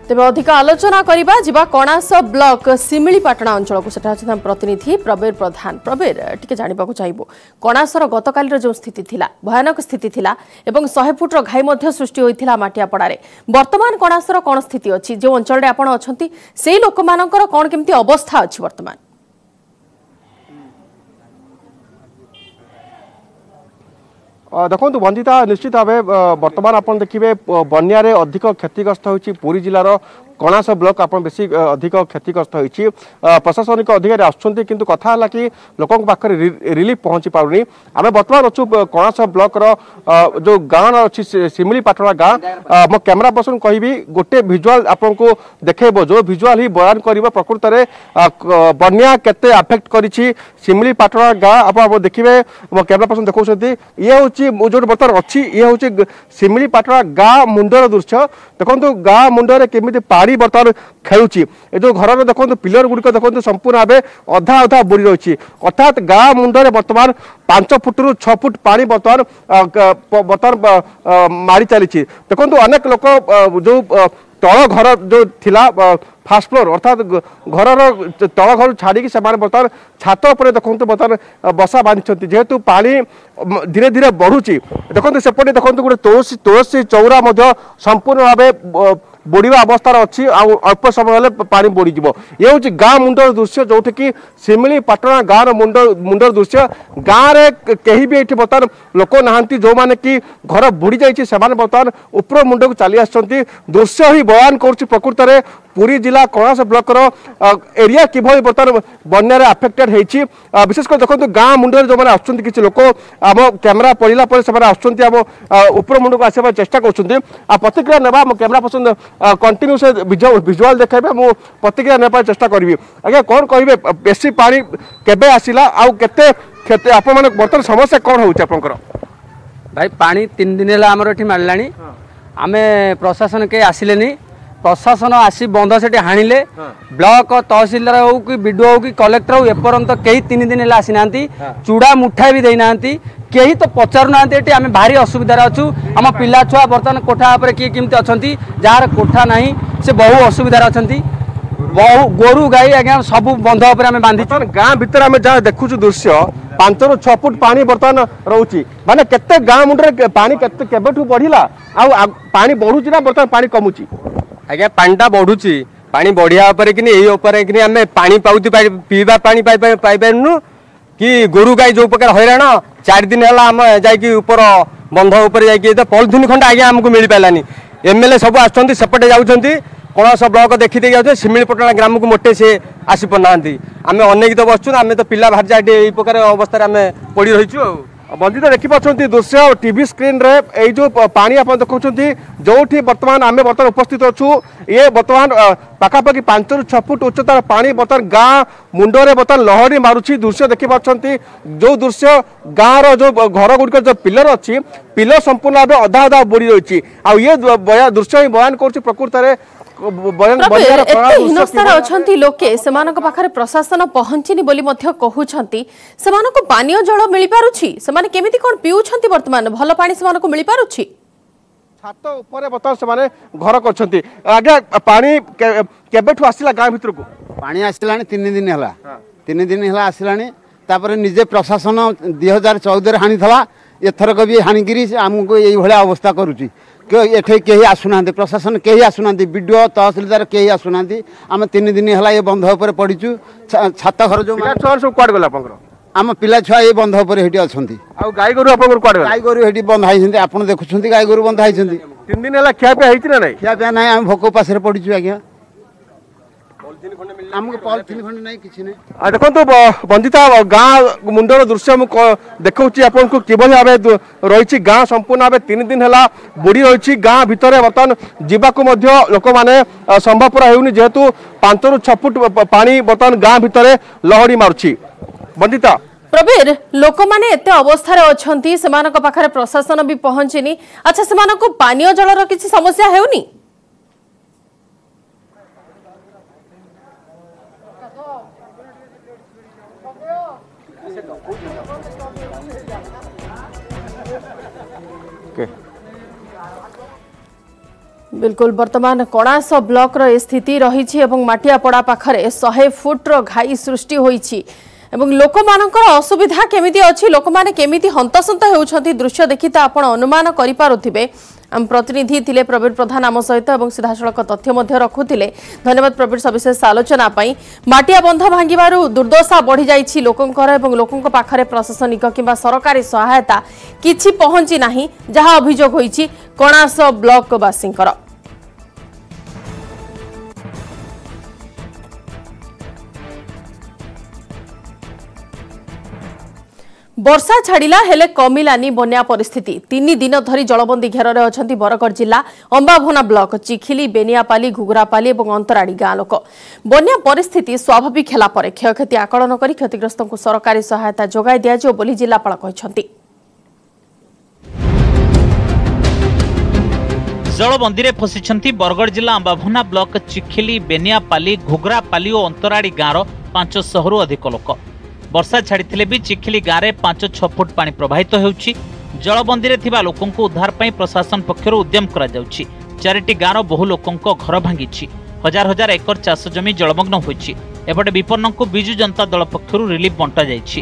ତେବେ ଅଧିକ ଆଲୋଚନା କରିବା, ଯିବା କଣାସ ବ୍ଲକ ଶିମିଳିପାଟଣା ଅଞ୍ଚଳକୁ। ସେଠାରେ ଅଛନ୍ତି ଆମ ପ୍ରତିନିଧି ପ୍ରବୀର ପ୍ରଧାନ। ପ୍ରବୀର, ଟିକେ ଜାଣିବାକୁ ଚାହିଁବୁ, କଣାସର ଗତକାଲିର ଯେଉଁ ସ୍ଥିତି ଥିଲା, ଭୟାନକ ସ୍ଥିତି ଥିଲା ଏବଂ ଶହେ ଫୁଟର ଘାଇ ମଧ୍ୟ ସୃଷ୍ଟି ହୋଇଥିଲା ମାଟିଆପଡ଼ାରେ। ବର୍ତ୍ତମାନ କଣାସର କ'ଣ ସ୍ଥିତି ଅଛି? ଯେଉଁ ଅଞ୍ଚଳରେ ଆପଣ ଅଛନ୍ତି, ସେଇ ଲୋକମାନଙ୍କର କ'ଣ କେମିତି ଅବସ୍ଥା ଅଛି ବର୍ତ୍ତମାନ? ଦେଖନ୍ତୁ ବନ୍ଦିତା, ନିଶ୍ଚିତ ଭାବେ ବର୍ତ୍ତମାନ ଆପଣ ଦେଖିବେ ବନ୍ୟାରେ ଅଧିକ କ୍ଷତିଗ୍ରସ୍ତ ହୋଇଛି ପୁରୀ ଜିଲ୍ଲାର କଣାସ ବ୍ଲକ। ଆପଣ ବେଶୀ ଅଧିକ କ୍ଷତିଗ୍ରସ୍ତ ହୋଇଛି। ପ୍ରଶାସନିକ ଅଧିକାରୀ ଆସୁଛନ୍ତି, କିନ୍ତୁ କଥା ହେଲା କି ଲୋକଙ୍କ ପାଖରେ ରିଲିଫ ପହଞ୍ଚି ପାରୁନି। ଆମେ ବର୍ତ୍ତମାନ ଅଛୁ କଣାସ ବ୍ଲକର ଯେଉଁ ଗାଁ ଅଛି, ଶିମିଳିପାଟଣା ଗାଁ। ମୋ କ୍ୟାମେରା ପର୍ସନ କହିବି, ଗୋଟେ ଭିଜୁଆଲ ଆପଣଙ୍କୁ ଦେଖେଇବ, ଯେଉଁ ଭିଜୁଆଲ ହିଁ ବୟାନ କରିବ ପ୍ରକୃତରେ ବନ୍ୟା କେତେ ଆଫେକ୍ଟ କରିଛି ଶିମିଳିପାଟଣା ଗାଁ। ଆପଣ ଦେଖିବେ, ମୋ କ୍ୟାମେରା ପର୍ସନ ଦେଖାଉଛନ୍ତି, ଇଏ ହେଉଛି ମୁଁ ଯେଉଁଠି ବର୍ତ୍ତମାନ ଅଛି, ଇଏ ହେଉଛି ଶିମିଳିପାଟଣା ଗାଁ ମୁଣ୍ଡର ଦୃଶ୍ୟ। ଦେଖନ୍ତୁ ଗାଁ ମୁଣ୍ଡରେ କେମିତି ପାଣି ବର୍ତ୍ତମାନ ଖେଳୁଛି। ଏ ଯେଉଁ ଘରର ଦେଖନ୍ତୁ ପିଲର ଗୁଡ଼ିକ ଦେଖନ୍ତୁ, ସମ୍ପୂର୍ଣ୍ଣ ଭାବେ ଅଧା ଅଧା ବୁଡ଼ି ରହିଛି। ଅର୍ଥାତ୍ ଗାଁ ମୁଣ୍ଡରେ ବର୍ତ୍ତମାନ ପାଞ୍ଚ ଫୁଟରୁ ଛଅ ଫୁଟ ପାଣି ବର୍ତ୍ତମାନ ବର୍ତ୍ତମାନ ମାଡ଼ି ଚାଲିଛି। ଦେଖନ୍ତୁ ଅନେକ ଲୋକ ଯେଉଁ ତଳ ଘର ଯେଉଁ ଥିଲା, ଫାର୍ଷ୍ଟ ଫ୍ଲୋର, ଅର୍ଥାତ୍ ଘରର ତଳ ଘରୁ ଛାଡ଼ିକି ସେମାନେ ବର୍ତ୍ତମାନ ଛାତ ଉପରେ ଦେଖନ୍ତୁ ବର୍ତ୍ତମାନ ବସା ବାନ୍ଧିଛନ୍ତି, ଯେହେତୁ ପାଣି ଧୀରେ ଧୀରେ ବଢ଼ୁଛି। ଦେଖନ୍ତୁ ସେପଟେ ଦେଖନ୍ତୁ ଗୋଟେ ତୁଳସୀ ତୁଳସୀ ଚଉରା ମଧ୍ୟ ସମ୍ପୂର୍ଣ୍ଣ ଭାବେ ବୁଡ଼ିବା ଅବସ୍ଥାରେ ଅଛି, ଆଉ ଅଳ୍ପ ସମୟ ହେଲେ ପାଣି ବୁଡ଼ିଯିବ। ଇଏ ହେଉଛି ଗାଁ ମୁଣ୍ଡର ଦୃଶ୍ୟ, ଯେଉଁଠିକି ଶିମିଳିପାଟଣା ଗାଁର ମୁଣ୍ଡ ମୁଣ୍ଡର ଦୃଶ୍ୟ। ଗାଁରେ କେହି ବି ଏଠି ବର୍ତ୍ତମାନ ଲୋକ ନାହାନ୍ତି। ଯେଉଁମାନେ କି ଘର ବୁଡ଼ି ଯାଇଛି, ସେମାନେ ବର୍ତ୍ତମାନ ଉପର ମୁଣ୍ଡକୁ ଚାଲି ଆସିଛନ୍ତି। ଦୃଶ୍ୟ ହିଁ ବୟାନ କରୁଛି ପ୍ରକୃତରେ ପୁରୀ ଜିଲ୍ଲା କଣାସ ବ୍ଲକର ଏରିଆ କିଭଳି ବର୍ତ୍ତମାନ ବନ୍ୟାରେ ଆଫେକ୍ଟେଡ୍ ହେଇଛି। ବିଶେଷ କରି ଦେଖନ୍ତୁ ଗାଁ ମୁଣ୍ଡରେ ଯେଉଁମାନେ ଆସୁଛନ୍ତି, କିଛି ଲୋକ ଆମ କ୍ୟାମେରା ପଡ଼ିଲା ପରେ ସେମାନେ ଆସୁଛନ୍ତି, ଆମ ଉପର ମୁଣ୍ଡକୁ ଆସିବା ପାଇଁ ଚେଷ୍ଟା କରୁଛନ୍ତି। ଆଉ ପ୍ରତିକ୍ରିୟା ନେବା, ଆମ କ୍ୟାମେରା ପର୍ସନ କଣ୍ଟିନ୍ୟୁ ସେ ଭିଜୁଆଲ ଦେଖାଇବେ, ମୁଁ ପ୍ରତିକ୍ରିୟା ନେବା ପାଇଁ ଚେଷ୍ଟା କରିବି। ଆଜ୍ଞା, କ'ଣ କହିବେ, ବେଶୀ ପାଣି କେବେ ଆସିଲା ଆଉ କେତେ କ୍ଷତି ଆପଣମାନେ, ବର୍ତ୍ତମାନ ସମସ୍ୟା କ'ଣ ହେଉଛି ଆପଣଙ୍କର? ଭାଇ ପାଣି ତିନି ଦିନ ହେଲା ଆମର ଏଠି ମାଡ଼ିଲାଣି ଆମେ ପ୍ରଶାସନ କେହି ଆସିଲେନି ପ୍ରଶାସନ ଆସି ବନ୍ଧ ସେଠି ହାଣିଲେ ବ୍ଲକ ତହସିଲଦାର ହଉ କି ବିଡିଓ ହଉ କି କଲେକ୍ଟର ହଉ ଏପର୍ଯ୍ୟନ୍ତ କେହି ତିନି ଦିନ ହେଲା ଆସିନାହାନ୍ତି ଚୁଡ଼ା ମୁଠାଏ ବି ଦେଇନାହାନ୍ତି କେହି ତ ପଚାରୁନାହାନ୍ତି ଏଠି ଆମେ ଭାରି ଅସୁବିଧାରେ ଅଛୁ ଆମ ପିଲା ଛୁଆ ବର୍ତ୍ତମାନ କୋଠା ଉପରେ କିଏ କେମିତି ଅଛନ୍ତି ଯାହାର କୋଠା ନାହିଁ ସେ ବହୁ ଅସୁବିଧାରେ ଅଛନ୍ତି ବହୁ ଗୋରୁ ଗାଈ ଆଜ୍ଞା ସବୁ ବନ୍ଧ ଉପରେ ଆମେ ବାନ୍ଧିଛୁ ଗାଁ ଭିତରେ ଆମେ ଯାହା ଦେଖୁଛୁ ଦୃଶ୍ୟ ପାଞ୍ଚରୁ ଛଅ ଫୁଟ ପାଣି ବର୍ତ୍ତମାନ ରହୁଛି ମାନେ କେତେ ଗାଁ ମୁଣ୍ଡରେ ପାଣି କେତେ କେବେଠୁ ବଢିଲା ଆଉ ପାଣି ବଢୁଛି ନା ବର୍ତ୍ତମାନ ପାଣି କମୁଛି ଆଜ୍ଞା ପାଣିଟା ବଢୁଛି ପାଣି ବଢିବା ଉପରେ କିନି ଏଇ ଉପରେ କିନି ଆମେ ପାଣି ପାଉଛୁ ପିଇବା ପାଣି ପାଇପାରୁନୁ କି ଗୋରୁ ଗାଈ ଯୋଉ ପ୍ରକାର ହଇରାଣ ଚାରି ଦିନ ହେଲା ଆମେ ଯାଇକି ଉପର ବନ୍ଧ ଉପରେ ଯାଇକି ପଲିଥିନ୍ ଖଣ୍ଡେ ଆଜ୍ଞା ଆମକୁ ମିଳିପାରିଲାନି ଏମଏଲଏ ସବୁ ଆସୁଛନ୍ତି ସେପଟେ ଯାଉଛନ୍ତି କଣାସ ବ୍ଲକ ଦେଖିଦେଇକି ଯାଉଛନ୍ତି ଶିମିଳିପଟଣା ଗ୍ରାମକୁ ମୋଟେ ସେ ଆସିପାରୁନାହାନ୍ତି ଆମେ ଅନେକ ତ ବସୁଛୁ ଆମେ ତ ପିଲା ଭାରି ଏଠି ଏଇ ପ୍ରକାର ଅବସ୍ଥାରେ ଆମେ ପଡ଼ି ରହିଛୁ ଆଉ ବନ୍ଦିତ ଦେଖିପାରୁଛନ୍ତି ଦୃଶ୍ୟ ଟିଭି ସ୍କ୍ରିନ୍ରେ ଏଇ ଯେଉଁ ପାଣି ଆପଣ ଦେଖାଉଛନ୍ତି ଯେଉଁଠି ବର୍ତ୍ତମାନ ଆମେ ବର୍ତ୍ତମାନ ଉପସ୍ଥିତ ଅଛୁ ଇଏ ବର୍ତ୍ତମାନ ପାଖାପାଖି ପାଞ୍ଚରୁ ଛଅ ଫୁଟ ଉଚ୍ଚତାର ପାଣି ବର୍ତ୍ତମାନ ଗାଁ ମୁଣ୍ଡରେ ବର୍ତ୍ତମାନ ଲହଡ଼ି ମାରୁଛି ଦୃଶ୍ୟ ଦେଖିପାରୁଛନ୍ତି ଯେଉଁ ଦୃଶ୍ୟ ଗାଁର ଯେଉଁ ଘର ଗୁଡ଼ିକର ଯେଉଁ ପିଲର ଅଛି ପିଲର ସମ୍ପୂର୍ଣ୍ଣ ଭାବେ ଅଧା ଅଧା ବୁଡ଼ି ରହିଛି ଆଉ ଇଏ ଦୃଶ୍ୟ ହିଁ ବୟାନ କରୁଛି ପ୍ରକୃତରେ ଏତେ ହୀନସ୍ତାରେ ଅଛନ୍ତି ଲୋକେ ସେମାନଙ୍କ ପାଖରେ ପ୍ରଶାସନ ପହଞ୍ଚିନି ବୋଲି ମଧ୍ୟ କହୁଛନ୍ତି ସେମାନଙ୍କୁ ପାନୀୟ ଜଳ ମିଳିପାରୁଛି ସେମାନେ କେମିତି କ'ଣ ପିଉଛନ୍ତି ବର୍ତ୍ତମାନ ଭଲ ପାଣି ସେମାନଙ୍କୁ ମିଳିପାରୁଛି ଛାତ ଉପରେ ବର୍ତ୍ତମାନ ସେମାନେ ଘର କରିଛନ୍ତି ଆଜ୍ଞା ପାଣି କେବେଠୁ ଆସିଲା ଗାଁ ଭିତରକୁ ପାଣି ଆସିଲାଣି ତିନି ଦିନ ହେଲା ତିନି ଦିନ ହେଲା ଆସିଲାଣି ତାପରେ ନିଜେ ପ୍ରଶାସନ ଦୁଇ ହଜାର ଚଉଦରେ ହାଣିଥିଲା ଏଥରକ ବି ହାଣିକିରି ଆମକୁ ଏଇଭଳିଆ ଅବସ୍ଥା କରୁଛି ଏଠି କେହି ଆସୁନାହାନ୍ତି ପ୍ରଶାସନ କେହି ଆସୁନାହାନ୍ତି ବିଡ଼ିଓ ତହସିଲଦାର କେହି ଆସୁନାହାନ୍ତି ଆମେ ତିନି ଦିନ ହେଲା ଏ ବନ୍ଧ ଉପରେ ପଡ଼ିଛୁ ଛାତ ଘର ଯେଉଁ ଛୁଆ ସବୁ କୁଆଡ଼େ ଗଲେ ଆପଣଙ୍କର ଆମ ପିଲା ଛୁଆ ଏ ବନ୍ଧ ଉପରେ ସେଠି ଅଛନ୍ତି ଆଉ ଗାଈ ଗୋରୁ ଆପଣଙ୍କର କୁଆଡ଼େ ଗାଈ ଗୋରୁ ସେଠି ବନ୍ଧା ହେଇଛନ୍ତି ଆପଣ ଦେଖୁଛନ୍ତି ଗାଈ ଗୋରୁ ବନ୍ଧା ହେଇଛନ୍ତି ତିନି ଦିନ ହେଲା ଖିଆପିଆ ହେଇଛି ନା ନାଇଁ ଖିଆପିଆ ନାହିଁ ଆମେ ଭୋକ ଉପାସରେ ପଡ଼ିଛୁ ଆଜ୍ଞା ଆମକୁ ପଲିଥିନ୍ ଖଣ୍ଡେ ନାହିଁ କିଛି ନାହିଁ ଆଉ ଦେଖନ୍ତୁ ବନ୍ଦିତା ଗାଁ ମୁଣ୍ଡର ଦୃଶ୍ୟ ମୁଁ ଦେଖାଉଛି ଆପଣଙ୍କୁ କିଭଳି ଭାବେ ରହିଛି ଗାଁ ସମ୍ପୂର୍ଣ୍ଣ ଭାବେ ତିନି ଦିନ ହେଲା ବୁଡ଼ି ରହିଛି ଗାଁ ଭିତରେ ବର୍ତ୍ତମାନ ଯିବାକୁ ମଧ୍ୟ ଲୋକମାନେ ସମ୍ଭବପର ହେଉନି ଯେହେତୁ ପାଞ୍ଚରୁ ଛଅ ଫୁଟ ପାଣି ବର୍ତ୍ତମାନ ଗାଁ ଭିତରେ ଲହଡ଼ି ମାରୁଛି ବନ୍ଦିତା ପ୍ରବୀର ଲୋକମାନେ ଏତେ ଅବସ୍ଥାରେ ଅଛନ୍ତି ସେମାନଙ୍କ ପାଖରେ ପ୍ରଶାସନ ବି ପହଞ୍ଚିନି ଆଚ୍ଛା ସେମାନଙ୍କୁ ପାନୀୟ ଜଳର କିଛି ସମସ୍ୟା ହେଉନି बिल्कुल वर्तमान कणास ब्लकर स्थिति रही और माटियापड़ा पाखे शहे फुटर घाई सृष्टि होइछि এবং লোকমানଙ୍କର অসুবিধা কেমিতি ଅଛି ଲୋକମାନେ କେମିତି ହନ୍ତସନ୍ତ ହେଉଛନ୍ତି ଦୃଶ୍ୟ ଦେଖି ତ ଆପଣ ଅନୁମାନ କରିପାରୁଥିବେ ଆମ ପ୍ରତିନିଧି ଥିଲେ ପ୍ରବୀର ପ୍ରଧାନ ଆମ ସହିତ ଏବଂ ସିଧାସଳଖ ତଥ୍ୟ ମଧ୍ୟ ରଖୁଥିଲେ ଧନ୍ୟବାଦ ପ୍ରବୀର ସବିଶେଷ ଆଲୋଚନା ପାଇଁ ମାଟିଆ ବନ୍ଧ ଭାଙ୍ଗିବାରୁ ଦୁର୍ଦ୍ଦଶା ବଢ଼ିଯାଇଛି ଲୋକଙ୍କର ଏବଂ ଲୋକଙ୍କ ପାଖରେ ପ୍ରଶାସନିକ କିମ୍ବା ସରକାରୀ ସହାୟତା କିଛି ପହଞ୍ଚି ନାହିଁ ଯାହା ଅଭିଯୋଗ ହୋଇଛି କଣାସ ବ୍ଲକବାସୀଙ୍କର ବର୍ଷା ଛାଡ଼ିଲା ହେଲେ କମିଲାନି ବନ୍ୟା ପରିସ୍ଥିତି ତିନି ଦିନ ଧରି ଜଳବନ୍ଦୀ ଘେରରେ ଅଛନ୍ତି ବରଗଡ଼ ଜିଲ୍ଲା ଅମ୍ବାଭୋନା ବ୍ଲକ ଚିଖିଲି ବେନିଆପାଲି ଘୁଘୁରାପାଲି ଏବଂ ଅନ୍ତରାଡ଼ି ଗାଁ ଲୋକ ବନ୍ୟା ପରିସ୍ଥିତି ସ୍ୱାଭାବିକ ହେଲା ପରେ କ୍ଷୟକ୍ଷତି ଆକଳନ କରି କ୍ଷତିଗ୍ରସ୍ତଙ୍କୁ ସରକାରୀ ସହାୟତା ଯୋଗାଇ ଦିଆଯିବ ବୋଲି ଜିଲ୍ଲାପାଳ କହିଛନ୍ତି। ଜଳବନ୍ଦୀରେ ଫସିଛନ୍ତି ବରଗଡ଼ ଜିଲ୍ଲା ଅମ୍ବାଭୋନା ବ୍ଲକ ଚିଖିଲି ବେନିଆପାଲି ଘୁଘୁରାପାଲି ଓ ଅନ୍ତରାଡ଼ି ଗାଁର ପାଞ୍ଚଶହରୁ ଅଧିକ ଲୋକ। ବର୍ଷା ଛାଡ଼ିଥିଲେ ବି ଚିଖିଲି ଗାଁରେ ପାଞ୍ଚ ଛଅ ଫୁଟ ପାଣି ପ୍ରବାହିତ ହେଉଛି। ଜଳବନ୍ଦୀରେ ଥିବା ଲୋକଙ୍କୁ ଉଦ୍ଧାର ପାଇଁ ପ୍ରଶାସନ ପକ୍ଷରୁ ଉଦ୍ୟମ କରାଯାଉଛି। ଚାରିଟି ଗାଁର ବହୁ ଲୋକଙ୍କ ଘର ଭାଙ୍ଗିଛି। ହଜାର ହଜାର ଏକର ଚାଷ ଜମି ଜଳମଗ୍ନ ହୋଇଛି। ଏପଟେ ବିପନ୍ନଙ୍କୁ ବିଜୁ ଜନତା ଦଳ ପକ୍ଷରୁ ରିଲିଫ ବଣ୍ଟାଯାଇଛି।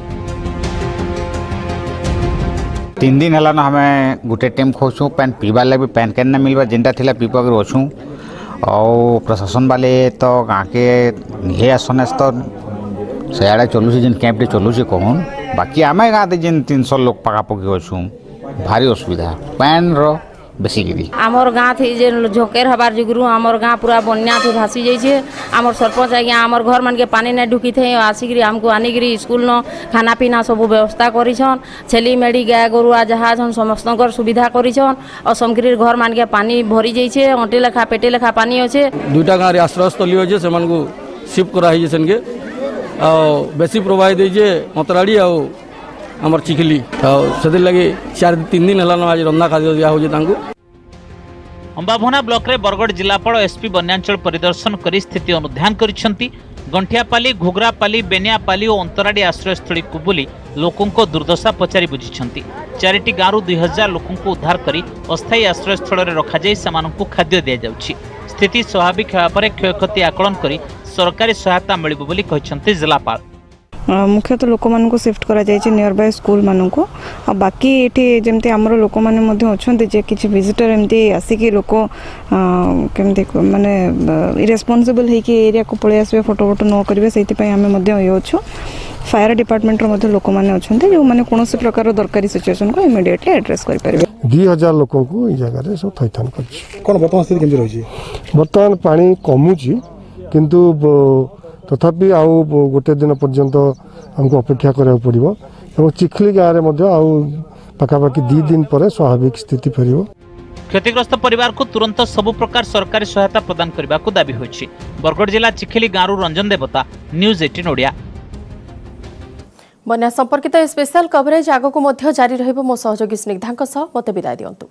ତିନି ଦିନ ହେଲାନ ଆମେ ଗୋଟେ ଟାଇମ୍ ଖାଉଛୁ ପାନ୍ ପିଇବାର୍ ଲାଗି ବି ପାନ୍ କେନ୍ ନା ମିଲବା ଯେନ୍ଟା ଥିଲା ପିଇବାକେ ଅଛୁଁ। ଆଉ ପ୍ରଶାସନ ବାଲେ ତ ଗାଁକେ ନିହେ ଆସନ୍ ତ ସେଆଡ଼େ ଚଲୁଛେ ଯେନ୍ କ୍ୟାମ୍ପଟେ ଚଲୁଛେ କହୁନ୍ ବାକି ଆମେ ଗାଁରେ ଯେନ୍ ତିନିଶହ ଲୋକ ପାଖାପାଖି ଅଛୁଁ ଭାରି ଅସୁବିଧା ପାନ୍ର ବେଶୀକିରି। ଆମର ଗାଁ ଥି ଯେନ୍ ଝକେର ହେବାର ଯୋଗୁଁ ଆମର ଗାଁ ପୁରା ବନ୍ୟା ଥି ଭାସି ଯାଇଛେ। ଆମର ସରପଞ୍ଚ ଆଜ୍ଞା ଆମର ଘର ମାନକେ ପାନି ନାଇଁ ଢୁକିଥାଏ ଆସିକିରି ଆମକୁ ଆନିକିରି ସ୍କୁଲ ନ ଖାନା ପିନା ସବୁ ବ୍ୟବସ୍ଥା କରିଛନ୍। ଛେଲି ମେଢ଼ି ଗାଏ ଗୋରୁଆ ଯାହା ଅଛନ୍ ସମସ୍ତଙ୍କର ସୁବିଧା କରିଛନ୍। ଆଉ ସମକିରି ଘର ମାନକେ ପାନି ଭରି ଯାଇଛେ ଅଣ୍ଟି ଲେଖା ପେଟେ ଲେଖା ପାନି ଅଛେ। ଦୁଇଟା ଗାଁରେ ଆଶ୍ରୟସ୍ଥଳୀ ଅଛେ ସେମାନଙ୍କୁ ସିଫ୍ଟ କରାହେଇଛେ ସେନକେ ଆଉ ବେଶୀ ପ୍ରବାହିତ ହେଇଛେ ଅନ୍ତରାଡ଼ି ଆଉ ଆମର ଚିଖିଲି। ଆଉ ସେଥିର୍ଲାଗି ଚାରି ତିନି ଦିନ ହେଲାନ ଆଜି ରନ୍ଧା ଖାଦ୍ୟ ଦିଆହେଉଛି ତାଙ୍କୁ। ଅମ୍ବାଭୋନା ବ୍ଲକରେ ବରଗଡ଼ ଜିଲ୍ଲାପାଳ, ଏସ୍ପି ବନ୍ୟାଞ୍ଚଳ ପରିଦର୍ଶନ କରି ସ୍ଥିତି ଅନୁଧ୍ୟାନ କରିଛନ୍ତି। ଗଣ୍ଠିଆପାଲି, ଘୁଘରାପାଲି, ବେନିଆପାଲି ଓ ଅନ୍ତରାଡ଼ି ଆଶ୍ରୟସ୍ଥଳୀକୁ ବୁଲି ଲୋକଙ୍କ ଦୁର୍ଦ୍ଦଶା ପଚାରି ବୁଝିଛନ୍ତି। ଚାରିଟି ଗାଁରୁ ଦୁଇ ହଜାର ଲୋକଙ୍କୁ ଉଦ୍ଧାର କରି ଅସ୍ଥାୟୀ ଆଶ୍ରୟସ୍ଥଳରେ ରଖାଯାଇ ସେମାନଙ୍କୁ ଖାଦ୍ୟ ଦିଆଯାଉଛି। ସ୍ଥିତି ସ୍ୱାଭାବିକ ହେବା ପରେ କ୍ଷୟକ୍ଷତି ଆକଳନ କରି ସରକାରୀ ସହାୟତା ମିଳିବ ବୋଲି କହିଛନ୍ତି ଜିଲ୍ଲାପାଳ। ମୁଖ୍ୟତଃ ଲୋକମାନଙ୍କୁ ସିଫ୍ଟ କରାଯାଇଛି ନିୟର ବାଇ ସ୍କୁଲମାନଙ୍କୁ। ଆଉ ବାକି ଏଠି ଯେମିତି ଆମର ଲୋକମାନେ ମଧ୍ୟ ଅଛନ୍ତି ଯେ କିଛି ଭିଜିଟର ଏମିତି ଆସିକି ଲୋକ କେମିତି ମାନେ ଇରେସ୍ପନ୍ସିବଲ୍ ହେଇକି ଏରିଆକୁ ପଳେଇ ଆସିବେ, ଫଟୋ ଫଟୋ ନ କରିବେ, ସେଇଥିପାଇଁ ଆମେ ମଧ୍ୟ ଇଏ ଅଛୁ। ଫାୟାର ଡିପାର୍ଟମେଣ୍ଟର ମଧ୍ୟ ଲୋକମାନେ ଅଛନ୍ତି, ଯେଉଁମାନେ କୌଣସି ପ୍ରକାର ଦରକାରୀ ସିଚୁଏସନକୁ ଇମିଡ଼ିଏଟଲି ଆଡ୍ରେସ୍ କରିପାରିବେ। ଦୁଇ ହଜାର ଲୋକଙ୍କୁ ଏଇ ଜାଗାରେ ସବୁ ଥଇଥାନ କରିଛି। କ'ଣ ବର୍ତ୍ତମାନ ସ୍ଥିତି କେମିତି ରହିଛି? ବର୍ତ୍ତମାନ ପାଣି କମୁଛି, କିନ୍ତୁ ତଥାପି ଆଉ ଗୋଟେ ଦିନ ପର୍ଯ୍ୟନ୍ତ ଆମକୁ ଅପେକ୍ଷା କରିବାକୁ ପଡ଼ିବ ଏବଂ ଚିଖଲି ଗାଁରେ ମଧ୍ୟ ଆଉ ପାଖାପାଖି ଦୁଇ ଦିନ ପରେ ସ୍ୱାଭାବିକ ସ୍ଥିତି ଫେରିବ। କ୍ଷତିଗ୍ରସ୍ତ ପରିବାରକୁ ତୁରନ୍ତ ସବୁ ପ୍ରକାର ସରକାରୀ ସହାୟତା ପ୍ରଦାନ କରିବାକୁ ଦାବି ହୋଇଛି। ବରଗଡ଼ ଜିଲ୍ଲା ଚିଖିଲି ଗାଁରୁ ରଞ୍ଜନ ଦେବତା, ନ୍ୟୁଜ୍ ଏଇଟିନ୍ ଓଡ଼ିଆ। ବନ୍ୟା ସମ୍ପର୍କିତ ଏ ସ୍ପେଶାଲ କଭରେଜ ଆଗକୁ ମଧ୍ୟ ଜାରି ରହିବ। ମୋ ସହଯୋଗୀ ସ୍ନିଗ୍ଧାଙ୍କ ସହ ମୋତେ ବିଦାୟ ଦିଅନ୍ତୁ।